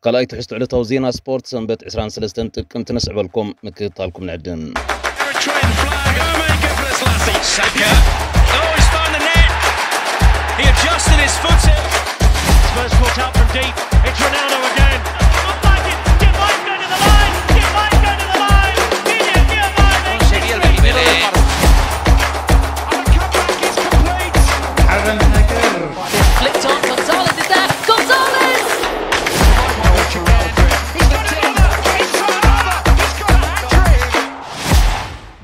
ካልኣይ ትሕዝቶ ዕለታዊ ዜና ስፖርት ሰንበት ዕስራን ሰለስተን ጥቅምቲ ነስዕበልኩም፣ ምክትታልኩም ንዕድም። Eritrean flag. Omar Gebrselassie. Saka. Oh, he's found the net. He adjusted his foot. Spurs caught out from deep. It's Ronaldo again. It might go to the line. It might go to the line. It is Giovanni. Sería el primero de parte. And the comeback is complete. Flicked on. Gonzalez is there. Gonzalez! He's got another. He's got another. He's got a hat-trick.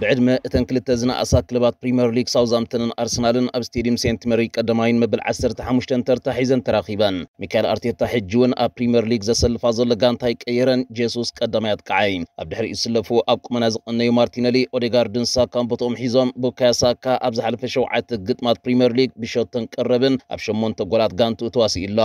ብዕድመ እተን ክልተ ዝነኣሳ ክለባት ፕሪምየር ሊግ ሳውዝሃምፕተንን ኣርሰናልን ኣብ ስቴዲየም ሴንት መሪ ቀዳማይን መበል ዓሰርተ ሓሙሽተን ተርታ ሒዘን ተራኺበን። ሚካኤል ኣርቴታ ሕጂ እውን ኣብ ፕሪምየር ሊግ ዘሰልፋ ዘሎ ጋንታ ኣይቀየረን። ጄሱስ ቀዳማይ ኣጥቃዓይ። ኣብ ድሕሪኡ ዝስለፉ ኣብ ቁመና ዝቐነዩ ማርቲነሊ፣ ኦዴጋርድን ሳካን ቦታኦም ሒዞም። ቡካዮ ሳካ ኣብ ዝሓለፈ ሸውዓተ ግጥማት ፕሪምየር ሊግ ብሸቶን ቀረብን ኣብ ሸሞንተ ጎላት ጋንትኡ ተዋሲኡ ኣሎ።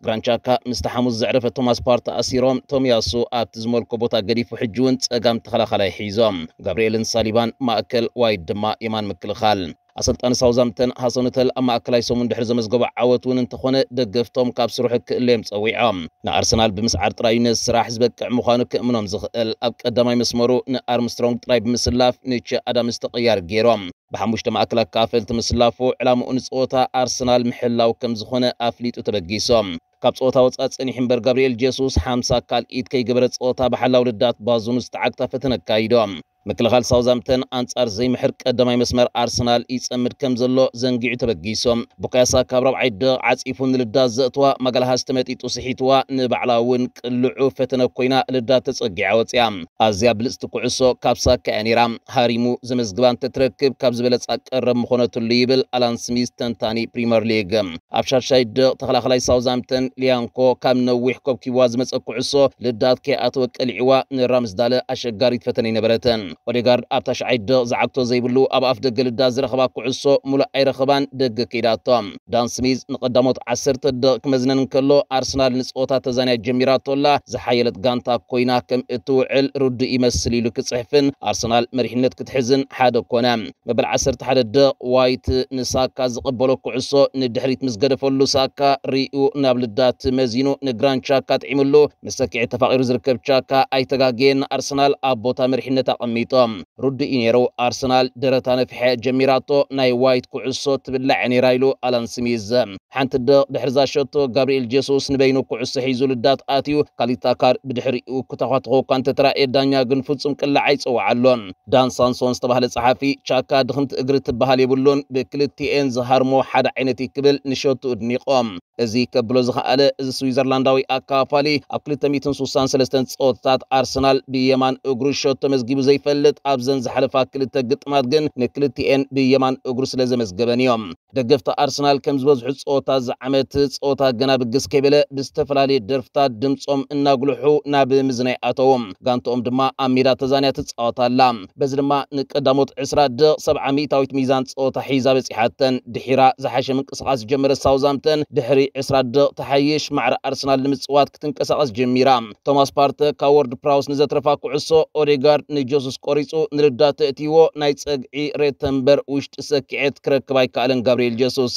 ግራንቻካ ምስቲ ሓሙስ ዘዕረፈ ቶማስ ፓርቲ ኣሲሮም፣ ቶሚያሱ ኣብቲ ዝመልኮ ቦታ ገዲፉ ሕጂ እውን ጸጋም ተኸላኻላይ ሒዞም። ጋብርኤልን ሳሊባን ማእከል፣ ዋይት ድማ የማን ምክልኻል። ኣሰልጣኒ ሳውዛምተን ሃሰን ሆተል ኣብ ማእከላይ ሰሙን ድሕሪ ዘመዝገቦ ዓወት እውን እንተኾነ ደገፍቶም ካብ ስርሑ ክእለዮም ጸዊዖም። ንኣርሰናል ብምስዓር ጥራይ እዩ ነዚ ስራሕ ዝበቅዕ ምዃኑ ክእምኖም ዝኽእል። ኣብ ቀዳማይ መስመሩ ንኣርምስትሮንግ ጥራይ ብምስላፍ ንቼ ኣዳምስ ተቐያሪ ገይሮም። ብሓሙሽተ ማእከል ኣካፈልቲ ምስላፉ ዕላምኡ ንጸወታ ኣርሰናል ምሕላው ከም ዝኾነ ኣፍሊጡ ተበጊሶም። ካብ ጸወታ ወጻኢ ጸኒሑ እምበር ጋብርኤል ጄሱስ ሓምሳ ካልኢት ከይገበረ ጸወታ ብሓላው ልዳት ባዙኑ ዝተዓግታ ፈተነ ኣካይዶም። ምክልኻል ሳውዛምተን ኣንጻር ዘይምሕር ቀዳማይ መስመር ኣርሰናል ይጸምድ ከም ዘሎ ዘንጊዑ ተበጊሶም። ቡካዮ ሳካ ኣብ ራብዓይ ደቕ ዓጺፉ ንልዳት ዘእትዋ ማጋልሃስ ተመጢጡ ስሒትዋ ንባዕላ እውን ቅልዑ ፈተነ ኮይና ልዳት ተጸጊዓ ወጽያ። ኣዝያ ብልጽቲ ኩዕሶ ካብ ሳካ እያ ነይራ። ሃሪሙ ዘመዝግባ እንተትረክብ ካብ ዝበለጻ ቀረብ ምኾነትሉ ይብል ኣላን ስሚዝ ተንታኒ ፕሪምየር ሊግ። ኣብ ሻድሻይ ደቕ ተኸላኸላይ ሳውዛምተን ሊያንኮ ካብ ነዊሕ ኮብኪብዋ ዝመጸ ኩዕሶ ልዳት ከይኣተወ ቀሊዕዋ ንራምስዳለ ኣሸጋሪት ፈተነ ይነበረተን። ኦዴጋርድ ኣብ ታሽዓይ ደቕ ዝዓግቶ ዘይብሉ ኣብ ኣፍ ደገ ልዳት ዝረኸባ ኩዕሶ ሙሉእ ኣይረኸባን ደገ ከይዳቶ። ዳን ስሚዝ ንቐዳሞት ዓሰርተ ደቕ ክመዝነን እንከሎ ኣርሰናል ንጸወታ ተዛንያ ጀሚራቶላ ዝሓየለት ጋንታ ኮይና ከም እትውዕል ርዱእ ይመስል ኢሉ ክጽሕፍን ኣርሰናል መሪሕነት ክትሕዝን ሓደ ኮነ። መበል ዓሰርተ ሓደ ደቕ ዋይት ንሳካ ዝቐበሎ ኩዕሶ ንድሕሪት ምስ ገደፈሉ ሳካ ሪኡ ናብ ልዳት መዚኑ ንግራንድ ቻካ ጥዒምሉ ምስ ሰኪዐ ተፋቒሩ ዝርከብ ቻካ ኣይተጋገየን ኣርሰናል ኣብ ቦታ መሪሕነት ኣቐሚጦም። ርዱእ እዩ ነይሩ። ኣርሰናል ደረታ ነፊሐ ጀሚራቶ ናይ ዋይት ኩዕሶ ትብላዕ ነይራ ኢሉ ኣላን ስሚዝ። ሓንቲ ደቕ ድሕሪ ዛሸቶ ጋብርኤል ጄሱስ ንበይኑ ኩዕሶ ሒዙ ልዳት ኣትዩ ካሊታ ካር ብድሕሪኡ ክተኳትኾ እኳ እንተተራእየ ዳኛ ግን ፍጹም ቅላዕ ኣይጸውዓሎን። ዳን ሳንሶን ዝተባህለ ጸሓፊ ቻካ ድኽምቲ እግሪ ትበሃል የብሉን ብክልቲኤን ዝሃርሞ ሓደ ዓይነት እዩ ክብል ንሸቱ እድኒቖም። እዚ ከብሎ ዝኸኣለ እዚ ስዊዘርላንዳዊ ኣካፋሊ ኣብ ክልተ ሚእትን ስሳን ሰለስተን ጸወታታት ኣርሰናል ብየማን እግሩ ሸቶ መዝጊቡ ዘይፈልጥ ኣብዘን ዝሓለፋ ክልተ ግጥማት ግን ንክልቲኤን ብየማን እግሩ ስለ ዘመዝገበን እዮም። ደገፍቲ ኣርሰናል ከም ዝበዝሑ ጸወታ ዝዓመት ጸወታ ገና ብግስ ከይበለ ብዝተፈላለየ ደርፍታት ድምጾም እናጉልሑ ናብ ምዝናይ ኣተዉ። ጋንትኦም ድማ ኣብ ሜዳ ተዛንያ ትጻወት ኣላ። በዚ ድማ ንቀዳሞት ዕስራ ደቕ ሰብዓ ሚእታዊት ሚዛን ጸወታ ሒዛ በጺሓተን። ድሒራ ዝሓሸ ምንቅስቓስ ዝጀመረት ሳውዛምተን ድሕሪ ዕስራ ደቕ ተሓይሽ ማዕረ ኣርሰናል ንምጽዋት ክትንቀሳቐስ ጀሚራ። ቶማስ ፓርተ ካብ ወርድ ፕራውስ ንዘትረፋ ኩዕሶ ኦዴጋርድ ንጀሱስ ቆሪጹ ንልዳት ተእትይዎ ናይ ጸግዒ ሬተንበር ውሽጢ ሰኪዐት ክረክብ ኣይከኣለን ጋብርኤል ጀሱስ።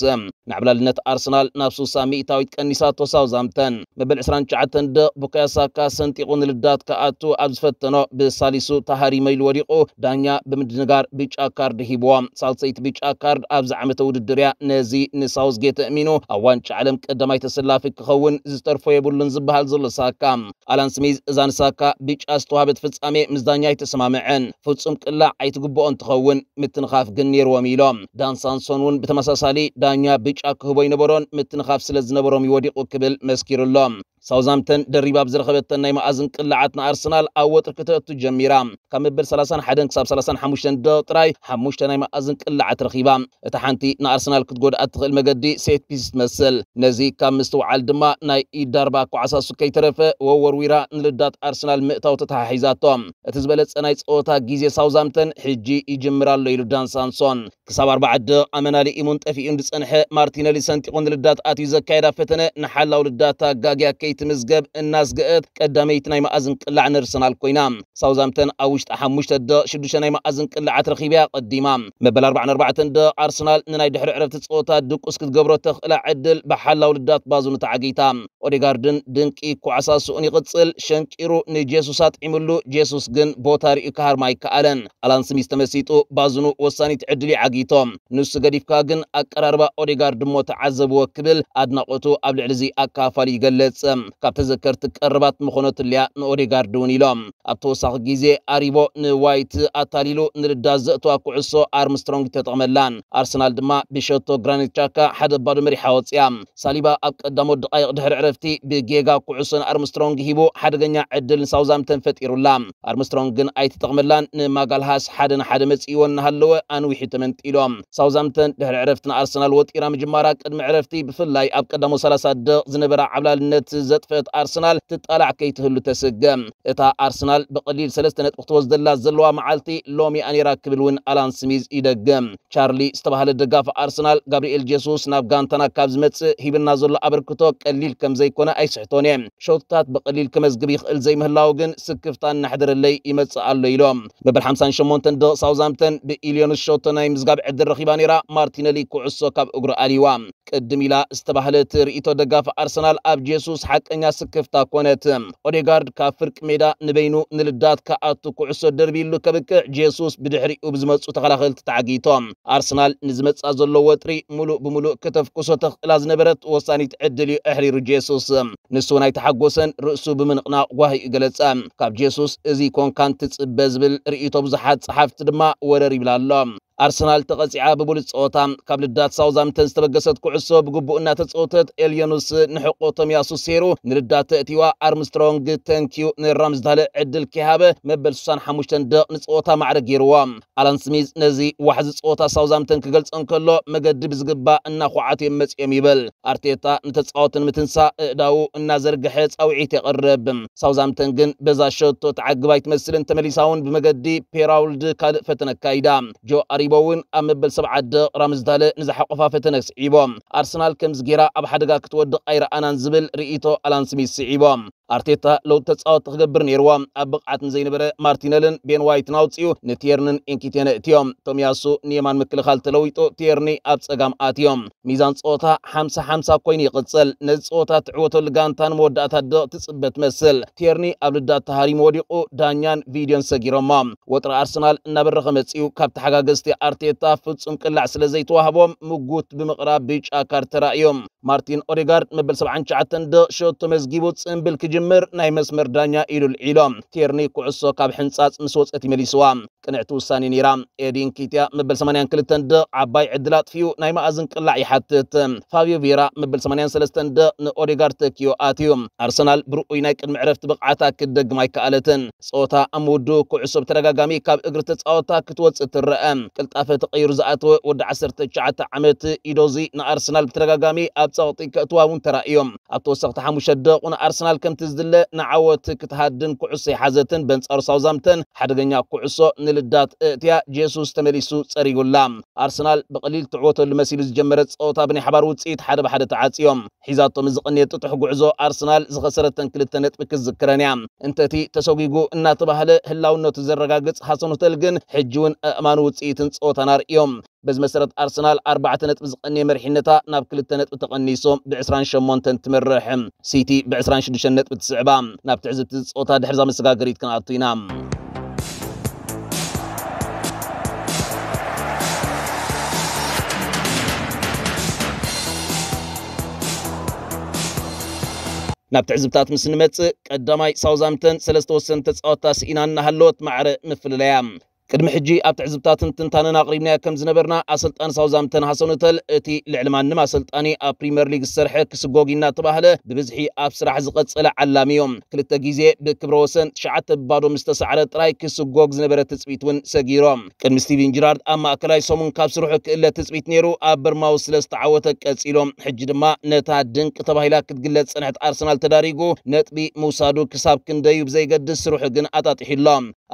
ንዕብላልነት ኣርሰናል ናብ ሱሳ ሚእታዊት ቀኒሳቶ ሳውዛምተን። መበል ዕስራን ትሽዓተን ደቕ ቡካዮ ሳካ ሰንጢቑ ንልዳት ክኣቱ ኣብ ዝፈተኖ ብሳሊሱ ተሃሪመ ኢሉ ወዲቑ ዳኛ ብምድንጋር ብጫ ካርድ ሂብዎ። ሳልሰይቲ ብጫ ካርድ ኣብዚ ዓመተ ውድድር እያ። ነዚ ንሳውዝጌት ኣእሚኑ ኣብ ዋንጫ ዓለም ቀዳማይ ተሰላፊ ክኸውን ዝተርፎ የብሉን ዝበሃል ዘሎ ሳካ ኣላን ስሚዝ እዛ ንሳካ ብጫ ዝተዋህበት ፍጻሜ ምስ ዳኛ ኣይተሰማምዐን። ፍጹም ቅላዕ ኣይትግብኦን ትኸውን፣ ምትንኻፍ ግን ነይርዎም ኢሎም። ዳን ሳንሶን እውን ብተመሳሳሊ ዳኛ ብጫ ክህቦ ኣይነበሮን፣ ምትንኻፍ ስለ ዝነበሮም እዩ ወዲቑ ክብል መስኪሩ ኣሎ። ሳውዛምተን ደሪባ ኣብ ዝረኸበተን ናይ መኣዝን ቅላዓት ንኣርሰናል ኣብ ወጥሪ ክተእቱ ጀሚራ። ካብ መበል ሰላሳን ሓደን ክሳብ ሰላሳን ሓሙሽተን ደቕ ጥራይ ሓሙሽተ ናይ መኣዝን ቅላዓት ረኺባ። እታ ሓንቲ ንኣርሰናል ክትጎድኣ እትኽእል መገዲ ሴት ፒስ ትመስል። ነዚ ካብ ምስትውዓል ድማ ናይ ኢድ ዳርባ ኣኳዓሳሱ ከይተረፈ ወወርዊራ ንልዳት ኣርሰናል ምእታው ተተሓሒዛቶ። እቲ ዝበለጸ ናይ ጸወታ ግዜ ሳውዛምተን ሕጂ ይጅምር ኣሎ ኢሉ ዳን ሳንሶን። ክሳብ ኣርባዓ ደቕ ኣመና ልኢሙን ጠፊኡን ዝጸንሐ ማርቲነሊ ሰንጢቑ ንልዳት ኣትዩ ዘካየዳ ፈተነ ንሓላው ልዳት ኣጋግያ ትምዝገብ እናስገአት ቀዳመይቲ ናይ መኣዝን ቅላዕ ንኣርሰናል ኮይና። ሳውዛምተን ኣብ ውሽጢ ሓሙሽተ ደቕ ሽዱሽተ ናይ መኣዝን ቅላዓት ረኺብያ ቀዲማ። መበል ኣርባዓን ኣርባዕተን ደቕ ኣርሰናል ንናይ ድሕሪ ዕረፍቲ ጸወታ ድቁስ ክትገብሮ ተኽእላ ዕድል ብሓላው ልዳት ባዙኑ ተዓጊታ። ኦዴጋርድን ድንቂ ኳዕሳስኡን ይቕጽል። ሸንቂሩ ንጄሱስ ኣጥዒምሉ። ጄሱስ ግን ቦታ ርእዩ ክሃርማ ኣይከኣለን። ኣላን ስሚዝ ተመሲጡ ባዝኑ ወሳኒት ዕድል እዩ ዓጊቶ። ንሱ ገዲፍካ ግን ኣቀራርባ ኦዴጋርድ እሞ ተዓዘብዎ ክብል ኣድናቖቱ ኣብ ልዕሊ እዚ ኣካፋሊ ይገልጽ። ካብ ተዘከርቲ ቀረባት ምኾነትልያ ንኦዴጋርድ እውን ኢሎም። ኣብ ተወሳኺ ግዜ ኣሪቦ ንዋይት ኣታሊሉ ንልዳት ዘእትዋ ኩዕሶ ኣርምስትሮንግ ተጠቕመላን። ኣርሰናል ድማ ብሸቶ ግራኒት ቻካ ሓደ ባዶ መሪሓ ወፅያ። ሳሊባ ኣብ ቀዳሞት ደቓይቕ ድሕሪ ዕረፍቲ ብጌጋ ኩዕሶ ንኣርምስትሮንግ ሂቡ ሓደገኛ ዕድል ንሳውዛምተን ፈጢሩላ። ኣርምስትሮንግ ግን ኣይተጠቕመላን። ንማጋልሃስ ሓደ ንሓደ መፂእዎ እናሃለወ ኣንዊሑ ተመንጢሎም። ሳውዛምተን ድሕሪ ዕረፍቲ ንኣርሰናል ወጢራ ምጅማራ ቅድሚ ዕረፍቲ ብፍላይ ኣብ ቀዳሞ ሰላሳ ደቕ ዝነበራ ዓብላልነት ዘጥፈት ኣርሰናል ትጣላዕ ከይትህሉ ተስገም። እታ ኣርሰናል ብቐሊል ሰለስተ ነጥቢ ክትወስደላ ዘለዋ መዓልቲ ሎሚ ኣኔራ ክብል እውን ኣላን ስሚዝ ይደግም። ቻርሊ ዝተባህለ ደጋፊ ኣርሰናል ጋብሪኤል ጄሱስ ናብ ጋንታና ካብ ዝመጽእ ሂብና ዘሎ ኣበርክቶ ቀሊል ከም ዘይኮነ ኣይስሕቶን እየ። ሸቶታት ብቐሊል ከመዝግብ ይኽእል ዘይምህላው ግን ስክፍታ እናሕደረለይ ይመጽእ ኣሎ ኢሎም። መበል ሓምሳን ሸሞንተን ደቕ ሳውዛምተን ብኢልዮንስ ሸቶ ናይ ምዝጋብ ዕድል ረኺባ ነይራ። ማርቲነሊ ኩዕሶ ካብ እግሩ ኣልይዋ። ቅድም ኢላ ዝተባህለት ርእይቶ ደጋፊ ኣርሰናል ኣብ ጄሱስ ሓቀኛ ስክፍታ ኮነት። ኦዴጋርድ ካብ ፍርቂ ሜዳ ንበይኑ ንልዳት ክኣቱ ኩዕሶ ደርቢሉ ከብቅዕ ጄሱስ ብድሕሪኡ ብዝመጹ ተኸላኸልቲ ተዓጊቶም። ኣርሰናል ንዝመጽኣ ዘሎ ወጥሪ ሙሉእ ብሙሉእ ከተፍኩሶ ተኽእላ ዝነበረት ወሳኒት ዕድል እዩ ኣሕሪሩ ጄሱስ። ንሱ እውን ኣይተሓጎሰን፣ ርእሱ ብምንቕናቕ ጓሂኡ ገለጸ። ካብ ጄሱስ እዚ ኮንካን ትጽበ ዝብል ርእይቶ ብዙሓት ጸሓፍቲ ድማ ወረር ይብል ኣሎ። ኣርሰናል ተቐጺዓ ብብሉጽ ጸወታ ካብ ልዳት ሳውዛምተን ዝተበገሰት ኩዕሶ ብግቡእ እናተጸወተት ኤልዮኑስ ንሕቆ ቶሚያሱ ሴሩ ንልዳት ተእቲዋ። ኣርምስትሮንግ ተንኪዩ ንራምዝዳለ ዕድል ከይሃበ መበል ስሳን ሓሙሽተን ደቕ ንጸወታ ማዕረ ገይርዎ። ኣላን ስሚዝ ነዚ ዋሕዚ ጸወታ ሳውዛምተን ክገልጾ እንከሎ መገዲ ብዝግባእ እናኹዓቱ እዮም መጺኦም ይብል። ኣርቴታ ንተጻወቲ ንምትንሳእ እእዳዉ እናዘርግሐ ጻውዒት የቕርብ። ሳውዛምተን ግን በዛ ሸቶ ትዓግብ ኣይትመስልን። ተመሊሳ እውን ብመገዲ ፔራውልድ ካልእ ፈተነ ኣካይዳ። ጆ ኣሪቦ እውን ኣብ መበል ሰብዓ ደቕ ራምዝዳለ ንዝሓቆፋ ፈተነ ስዒቦ። ኣርሰናል ከምዚ ጌራ ኣብ ሓደጋ ክትወድቕ ኣይረኣናን ዝብል ርእይቶ ኣላን ስሚዝ ስዒቦ። ኣርቴታ ለውጥ ተጻወቲ ክገብር ነይርዎ። ኣብ ብቕዓት ንዘይነበረ ማርቲነልን ቤን ዋይትን ኣውጺኡ ንቲየርንን ኢንኪቴን እእትዮም። ቶሚያሱ ንየማን ምክልኻል ተለዊጡ ቲየርኒ ኣብ ጸጋም ኣትዮም። ሚዛን ጸወታ ሓምሳ ሓምሳ ኮይኑ ይቕጽል። ነዚ ጸወታ ትዕወተሉ ጋንታ ንመወዳእታ ደቕ ትጽበ ትመስል። ቲየርኒ ኣብ ልዳት ተሃሪሙ ወዲቑ ዳኛን ቪድዮን ሰጊሮሞ። ወጥሪ ኣርሰናል እናበረኸ መጺኡ። ካብ ተሓጋገዝቲ ኣርቴታ ፍጹም ቅላዕ ስለ ዘይተዋህቦም ምጉት ብምቕራብ ብጫ ካርድ ተራእዮም። ማርቲን ኦዴጋርድ መበል ሰብዓን ትሽዓተን ደቕ ሸቶ መዝጊቡ ጽምብል ክጅምር ናይ መስመር ዳኛ ኢዱ ልዒሎ። ቲየርኒ ኩዕሶ ካብ ሕንጻጽ ምስ ወጸት ይመሊስዋ። ቅንዕቲ ውሳኔ ነይራ። ኤዲን ኪትያ መበል ሰማንያን ክልተን ደቕ ዓባይ ዕድል ኣጥፊኡ ናይ መኣዝን ቅላዕ ይሓትት። ፋብዮ ቬራ መበል ሰማንያን ሰለስተን ደቕ ንኦዴጋርድ ተኪዮ ኣትዩ። ኣርሰናል ብርኡይ ናይ ቅድሚ ዕረፍቲ ብቕዓታ ክትደግም ኣይከኣለትን። ጸወታ ኣብ ምውድኡ ኩዕሶ ብተደጋጋሚ ካብ እግሪ ተጻወታ ክትወጽእ ትረአ። ቅልጣፈ ተቐይሩ ዝኣተወ ወዲ ዓሰርተ ትሽዓተ ዓመት ኢዶዚ ንኣርሰናል ብተደጋጋሚ ኣብ ጸቕጢ ከእትዋ እውን ተራእዮም። ኣብ ተወሰኽቲ ሓሙሽተ ደቑ ንኣርሰናል ከምቲ ዝድለ ንዓወት ክትሃድን ኩዕሶ ይሓዘትን። በንጻሩ ሳውዛምተን ሓደገኛ ኩዕሶ ንልዳት እእትያ ጄሱስ ተመሊሱ ጸሪጉላ። ኣርሰናል ብቐሊል ትዕወተሉ መሲሉ ዝጀመረ ጸወታ ብናይ ሓባር ውጽኢት ሓደ ብሓደ ተዓጽዮም። ሒዛቶም ዝቐነየ ጥጡሕ ጉዕዞ ኣርሰናል ዝኸሰረተን ክልተ ነጥቢ ክዝክረን እያ። እንተቲ ተሰጒጉ እናተባህለ ህላውነቱ ዘረጋግጽ ሃሰን ሆተል ግን ሕጂ እውን ኣእማን ውጽኢትን ጸወታን ኣርእዮም። በዚ መሰረት ኣርሰናል ኣርባዕተ ነጥቢ ዝቐነየ መሪሕነታ ናብ ክልተ ነጥቢ ተቐኒሶም ብ28ን ትመርሕ። ሲቲ ብ26ን ነጥቢ ትስዕባ። ናብ ትዕዝብቲ ጸወታ ድሕርዛ መሰጋገሪት ክንኣቱ ኢና። ናብ ትዕዝብታት ምስ ንመጽእ ቀዳማይ ሳውዛምተን ሰለስተ ወሰንቲ ተጻወታ ስኢና እናሃለወት ማዕረ ምፍልለያ። ቅድሚ ሕጂ ኣብ ትዕዝብታትን ትንታነን ኣቕሪብናዮ ከም ዝነበርና ኣሰልጣኒ ሳውዛምተን ሃሰን ሆተል እቲ ልዕሊ ማንም ኣሰልጣኒ ኣብ ፕሪምየር ሊግ ዝሰርሐ ክስጎግ እናተባህለ ብብዝሒ ኣብ ስራሕ ዝቐጸለ ዓላሚ እዩ። ክልተ ግዜ ብክብረ ወሰን ትሽዓተ ብባዶ ምስ ተሳዕረ ጥራይ ክስጎግ ዝነበረ ትጽቢት እውን ሰጊሮም። ቅድሚ ስቲቪን ጅራርድ ኣብ ማእከላይ ሰሙን ካብ ስርሑ ክእለ ትጽቢት ነይሩ። ኣብ በርማውስ ስለ ዝተዓወተ ቀጺሎም። ሕጂ ድማ ነታ ድንቂ ተባሂላ ክትግለጽ ዝጸንሐት ኣርሰናል ተዳሪጉ ነጥቢ ምውሳዱ ክሳብ ክንደዩ ብዘይገድስ ስርሑ ግን ኣጣጢሑ ኣሎ።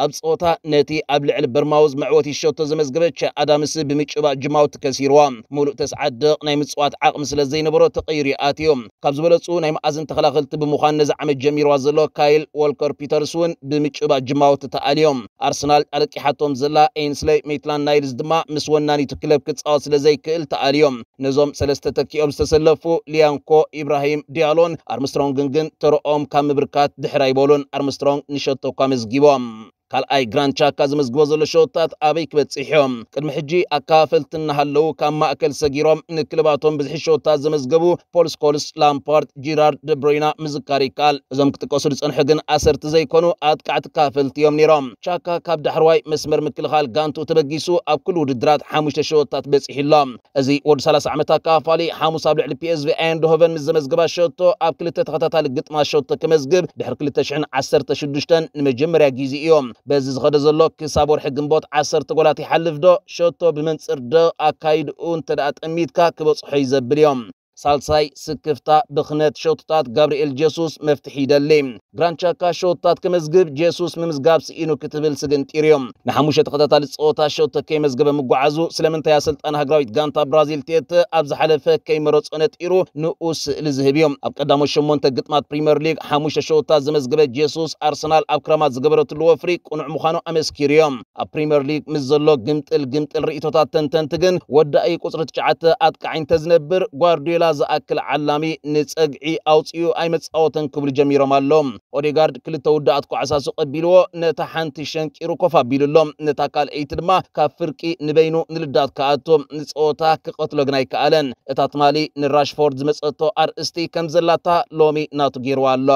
ኣብ ጸወታ ነቲ ኣብ ልዕሊ በርማውዝ መዕወቲ ሸቶ ዘመዝገበ ቸ ኣዳምስ ብምጭባጥ ጅማውቲ ከሲርዋ። ሙሉእ ተስዓት ደቕ ናይ ምጽዋት ዓቕሚ ስለ ዘይነበሮ ተቐይሩ ኣትዩ። ካብ ዝበለጹ ናይ መኣዝን ተኸላኸልቲ ብምዃን ነዚ ዓመት ጀሚርዋ ዘሎ ካይል ዎልከር ፒተርስ እውን ብምጭባጥ ጅማውቲ ተኣልዮም። ኣርሰናል ኣለቂሓቶም ዘላ ኤንስለይ ሜትላንድ ናይልስ ድማ ምስ ወናኒቱ ክለብ ክጻወት ስለ ዘይክእል ተኣልዮም። ነዞም ሰለስተ ተኪኦም ዝተሰለፉ ሊያንኮ፣ ኢብራሂም ዲያሎን ኣርምስትሮንግን ግን ተረኦም ካብ ምብርካት ድሕር ኣይበሉን። ኣርምስትሮንግ ንሸቶ እኳ መዝጊቦም። ካልኣይ ግራንድ ቻካ ዘመዝግቦ ዘሎ ሸወታት ኣበይ ክበጽሕ እዮም? ቅድሚ ሕጂ ኣካፈልቲ እናሃለዉ ካብ ማእከል ሰጊሮም ንክለባቶም ብዝሒ ሸወታት ዘመዝገቡ ፖል ስኮልስ፣ ላምፓርድ፣ ጂራርድ፣ ደብሮይና ምዝካር ይከኣል። እዞም ክጥቀሱ ዝጸንሑ ግን ኣሰርቲ ዘይኮኑ ኣጥቃዕቲ ካፈልቲ እዮም ነይሮም። ቻካ ካብ ዳሕርዋይ መስመር ምክልኻል ጋንቱ ተበጊሱ ኣብ ኩሉ ውድድራት ሓሙሽተ ሸወታት በጺሑ ኣሎ። እዚ ወዲ ሰላሳ ዓመት ኣካፋሊ ሓሙስ ኣብ ልዕሊ ፒ ኤስ ቪ ኣይንድሆቨን ምስ ዘመዝገባ ሸቶ ኣብ ክልተ ተኸታታሊ ግጥማት ሸቶ ክመዝግብ ድሕሪ ክልተ ሽሕን ዓሰርተ ሽዱሽተን ንመጀመርያ ግዜ እዩ። በዚ ዝኸደ ዘሎ ክሳብ ወርሒ ግንቦት ዓሰርተ ጎላት ይሓልፍ ዶ ሸቶ ብመንጽር ዶ ኣካይድኡ እንተ ደኣ ጠሚትካ ክበጽሖ እዩ ዘብል እዮም። ሳልሳይ ስክፍታ ብኽነት ሸቶታት ጋብርኤል ጀሱስ መፍትሒ ይደሊ። ግራንቻካ ሸወታት ክመዝግብ ጄሱስ ምምዝጋብ ስኢኑ ክትብል ስግንጢር እዮም። ንሓሙሽተ ተኸታታሊ ጸወታ ሸወተ ከይመዝገበ ምጓዓዙ ስለምንታይ ኣሰልጣን ሃገራዊት ጋንታ ብራዚል ቴተ ኣብ ዝሓለፈ ከይመረጾ ነጢሩ ንኡ ስእሊ ዝህብ እዮም። ኣብ ቀዳሞት ሸሞንተ ግጥማት ፕሪምየር ሊግ ሓሙሽተ ሸወታት ዘመዝገበ ጄሱስ ኣርሰናል ኣብ ክረማት ዝገበረትሉ ወፍሪ ቅኑዕ ምዃኑ ኣመስኪሩ እዮም። ኣብ ፕሪምየር ሊግ ምስ ዘሎ ግምጥል ግምጥል ርእይቶታት ተንተንቲ ግን ወዳኢ ቁጽሪ ትሽዓተ ኣጥቃዒ እንተዝነብር ጓርዲዮላ ዝኣክል ዓላሚ ንጸግዒ ኣውጺኡ ኣይመጻወተን ክብሉ ጀሚሮም ኣለዉ። ኦዴጋርድ ክልተ ውዳኣት ኳዕሳሱ ቀቢልዎ ነታ ሓንቲ ሸንቂሩ ኮፍ ኣቢሉ ኣሎ። ነታ ካልኣይቲ ድማ ካብ ፍርቂ ንበይኑ ንልዳት ክኣቱ ንጸወታ ክቐትሎ ግን ኣይከኣለን። እታ ትማሊ ንራሽፎርድ ዝመጸቶ ኣርእስቲ ከም ዘላታ ሎሚ ናቱ ገይርዋ ኣሎ።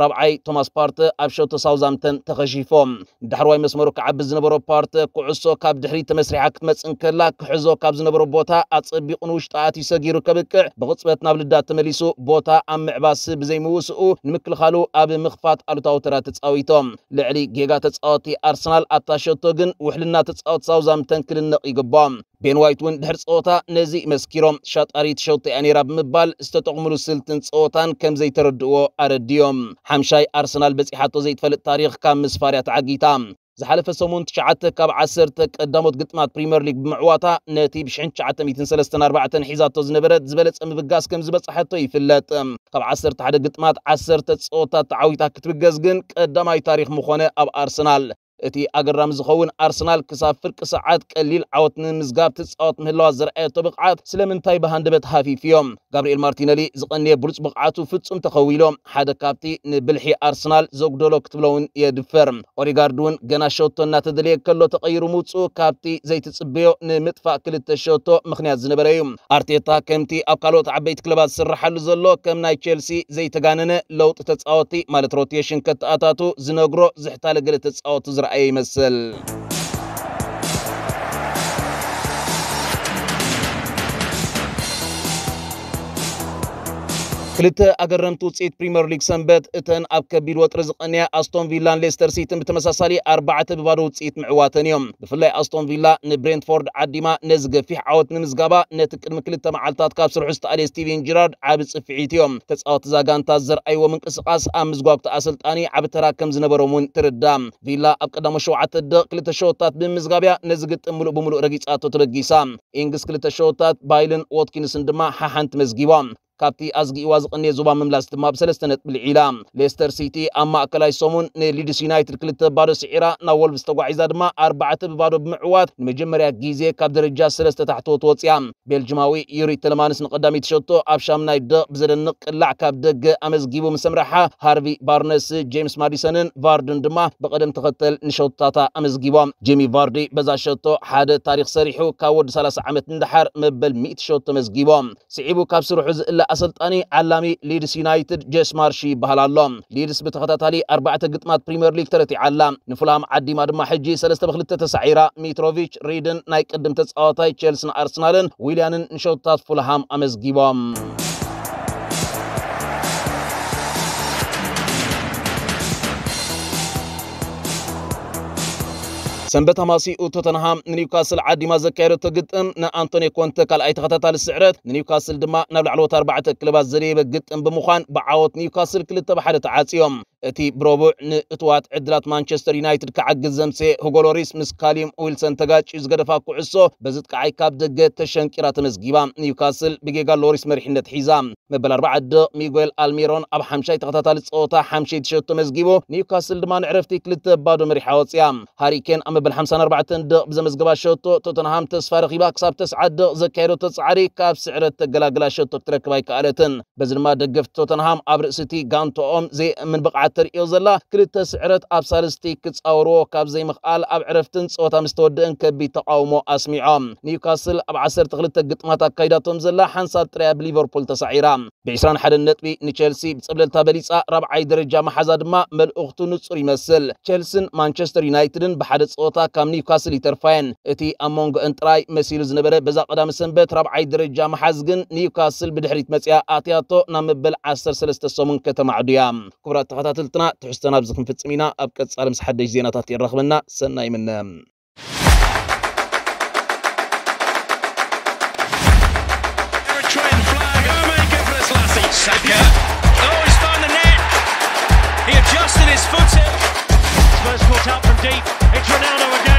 ራብዓይ ቶማስ ፓርተ ኣብ ሸቶ ሳውዛምተን ተኸሺፎ። ንዳሕርዋይ መስመሩ ክዓቢ ዝነበሮ ፓርተ ኩዕሶ ካብ ድሕሪት ተመስሪሓ ክትመጽእ እንከላ ክሕዞ ካብ ዝነበሮ ቦታ ኣጸቢቑ ንውሽጢ ኣትዩ ሰጊሩ ከብቅዕ ብቕጽበት ናብ ልዳት ተመሊሱ ቦታ ኣብ ምዕባስ ብዘይምውስኡ ንምክልኻሉ ኣብ ምኽፋት ኣሉታዊ ተራ ተጻዊቶም። ልዕሊ ጌጋ ተጻወቲ ኣርሰናል ኣብታ ሸቶ ግን ውሕልና ተጻወቲ ሳውዛምተን ክድነቕ ይግባኦ። ቤን ዋይት እውን ድሕሪ ጸወታ ነዚ መስኪሮም ሻጣሪት ሸቶ እያ ነይራ ብምባል ዝተጠቕምሉ ስልትን ጸወታን ከም ዘይተረድእዎ ኣረድዮም። ሓምሻይ ኣርሰናል በጺሓቶ ዘይትፈልጥ ታሪኽ ካብ ምስፋር እያ ተዓጊታ። ዝሓለፈ ሰሙን ትሽዓተ ካብ ዓሰርተ ቀዳሞት ግጥማት ፕሪምየር ሊግ ብምዕዋታ ነቲ ብሽሕን ትሽዓተ ሚእትን ሰለስተን ኣርባዕተን ሒዛቶ ዝነበረት ዝበለጸ ምብጋስ ከም ዝበጻሐቶ ይፍለጥ። ካብ ዓሰርተ ሓደ ግጥማት ዓሰርተ ጸወታት ተዓዊታ ክትብገስ ግን ቀዳማይ ታሪኽ ምኾነ ኣብ ኣርሰናል። እቲ ኣገራሚ ዝኸውን ኣርሰናል ክሳብ ፍርቂ ሰዓት ቀሊል ዓወት ንምምዝጋብ ትጻወት ምህላዋ ዘርኣየቶ ብቕዓት ስለምንታይ ብሃንደበት ሃፊፉ እዮም? ጋብርኤል ማርቲነሊ ዝቐንየ ብሉጽ ብቕዓቱ ፍጹም ተኸዊሎ። ሓደ ካብቲ ንብልሒ ኣርሰናል ዘጉደሎ ክትብሎ እውን የድፍር። ኦዴጋርድ እውን ገና ሸቶ እናተደልየ ከሎ ተቐይሩ ምውጽኡ ካብቲ ዘይትጽበዮ ንምጥፋእ ክልተ ሸቶ ምኽንያት ዝነበረ እዩ። ኣርቴታ ከምቲ ኣብ ካልኦት ዓበይቲ ክለባት ዝስርሓሉ ዘሎ ከም ናይ ቼልሲ ዘይተጋነነ ለውጢ ተጻወቲ ማለት ሮቴሽን ከተኣታቱ ዝነግሮ ዝሕታለ ገለ ተጻወቱ ዝረኣየ ይመስል። ክልተ ኣገረምቲ ውፅኢት ፕሪምየር ሊግ ሰንበት እተን ኣብ ከቢድ ወጥሪ ዝቐንያ ኣስቶን ቪላን ሌስተር ሲቲን ብተመሳሳሊ ኣርባዕተ ብባዶ ውፅኢት ምዕዋተን እዮም። ብፍላይ ኣስቶን ቪላ ንብሬንትፎርድ ዓዲማ ነዚ ገፊሕ ዓወት ንምዝጋባ ነቲ ቅድሚ ክልተ መዓልታት ካብ ስርሑ ዝተኣልየ ስቲቨን ጂራርድ ዓቢ ጽፍዒት እዮም። ተጻወቲ እዛ ጋንታ ዘርኣይዎ ምንቅስቓስ ኣብ ምዝጓግቲ ኣሰልጣኒ ዓቢ ተራ ከም ዝነበሮም እውን ትርዳ። ቪላ ኣብ ቀዳሞት ሸውዓተ ደቕ ክልተ ሸወታት ብምምዝጋብ እያ ነዚ ግጥም ምሉእ ብምሉእ ረጊጻቶ ተበጊሳ። ኢንግስ ክልተ ሸወታት ባይልን ዎትኪንስን ድማ ሓሓንቲ መዝጊቦም። ካብቲ ኣዝጊእዋ ዝቐነየ ዞባ ምምላስ ድማ ብሰለስተ ነጥቢ ልዒላ። ሌስተር ሲቲ ኣብ ማእከላይ ሰሙን ንሊድስ ዩናይትድ ክልተ ባዶ ስዒራ ናብ ወልቭስ ተጓዒዛ ድማ ኣርባዕተ ብባዶ ብምዕዋት ንመጀመርያ ግዜ ካብ ደረጃ ሰለስተ ታሕተዎት ወፅያ። ቤልጅማዊ ዩሪ ተለማንስ ንቐዳመይቲ ሸቶ ኣብ ሻምናይ ደቕ ብዘደንቕ ቅላዕ ካብ ደገ ኣመዝጊቡ ምስ ኣምረሓ ሃርቪ ባርነስ፣ ጄምስ ማዲሰንን ቫርድን ድማ ብቐደም ተኸተል ንሸቶታታ ኣመዝጊቦም። ጄሚ ቫርዲ በዛ ሸቶ ሓደ ታሪኽ ሰሪሑ ካብ ወዲ ሰላሳ ዓመት ንደሓር መበል ሚእቲ ሸቶ መዝጊቦም። ስዒቡ ካብ ስርሑ ዝእለ ኣሰልጣኒ ዓላሚ ሊድስ ዩናይትድ ጄስ ማርሺ ይበሃል ኣሎ። ሊድስ ብተኸታታሊ ኣርባዕተ ግጥማት ፕሪምየር ሊግ ተረቲዓ ኣላ። ንፉልሃም ዓዲማ ድማ ሕጂ ሰለስተ ብክልተ ተሳዒራ። ሚትሮቪች፣ ሪድን ናይ ቅድም ተጻዋታይ ቼልስን ኣርሰናልን ዊልያንን ንሸቶታት ፉልሃም ኣመዝጊቦም። ሰንበት ኣማሲኡ ቶተንሃም ንኒውካስል ዓዲማ ዘካየደቶ ግጥም ንኣንቶኒ ኮንተ ካልኣይ ተኸታታሊ ስዕረት ንኒውካስል ድማ ናብ ላዕለዎት ኣርባዕተ ክለባት ዘደየበ ግጥም ብምዃን ብዓወት ኒውካስል ክልተ ብሓደ ተዓጽዮም። እቲ ብረቡዕ ንእትዋት ዕድላት ማንቸስተር ዩናይትድ ክዓግዝ ዘምሰየ ሁጎ ሎሪስ ምስ ካሊም ዊልሰን ተጋጭዩ ዝገደፋ ኩዕሶ በዚ ጥቃዓይ ካብ ደገ ተሸንቂራ ተመዝጊባ። ኒውካስል ብጌጋ ሎሪስ መሪሕነት ሒዛ። መበል ኣርባዓ ደቕ ሚጉኤል ኣልሚሮን ኣብ ሓምሻይ ተኸታታሊ ጸወታ ሓምሸይቲ ሸቶ መዝጊቡ። ኒውካስል ድማ ንዕረፍቲ ክልተ ባዶ መሪሓ ወጽያ። ሃሪኬን ኣብ መበል ሓምሳን ኣርባዕተን ደቕ ብዘመዝገባ ሸቶ ቶተንሃም ተስፋ ረኺባ ክሳብ ተስዓት ደቕ ዘካየደቶ ጻዕሪ ካብ ስዕረት ተገላግላ ሸቶ ክትረክብ ኣይከኣለትን። በዚ ድማ ደገፍቲ ቶተንሃም ኣብ ርእሲ እቲ ጋንቶኦም ዘይእምን ብቕዓት ተርእዮ ዘላ ክልተ ስዕረት ኣብ ሳልስቲ ክጻወርዎ ካብ ዘይምኽኣል ኣብ ዕረፍትን ጸወታ ምስ ተወደእን ከቢድ ተቓውሞ ኣስሚዖም። ኒውካስል ኣብ ዓሰርተ ክልተ ግጥማት ኣካይዳቶም ዘላ ሓንሳብ ጥራያ ብሊቨርፑል ተሳዒራ። ብ ዕስራን ሓደን ነጥቢ ንቸልሲ ብጸብለልታ በሊጻ ራብዓይ ደረጃ መሓዛ ድማ መልእኽቱ ንጹር ይመስል። ቸልስን ማንቸስተር ዩናይትድን ብሓደ ጸወታ ካብ ኒውካስል ይተርፋየን። እቲ ኣብ መንጎ እንጥራይ መሲሉ ዝነበረ በዛ ቀዳሚ ሰንበት ራብዓይ ደረጃ መሓዝ ግን ኒውካስል ብድሕሪት መጽያ ኣትያቶ ናብ መበል ዓሰርተ ሰለስተ ሰሙን ከተማዕዱ እያ። ክቡራት ተኸታተልትና ትሕዝቶና ኣብዚ ክንፍጽም ኢና። ኣብ ቀጻሊ ምስ ሓደሽ ዜናታት የራኽበና። ሰናይ ምነ። Eritrean flag. Omar Gebrselassie. Saka. Oh, he's found the net. He adjusted his foot. First caught out from deep. It's Ronaldo again.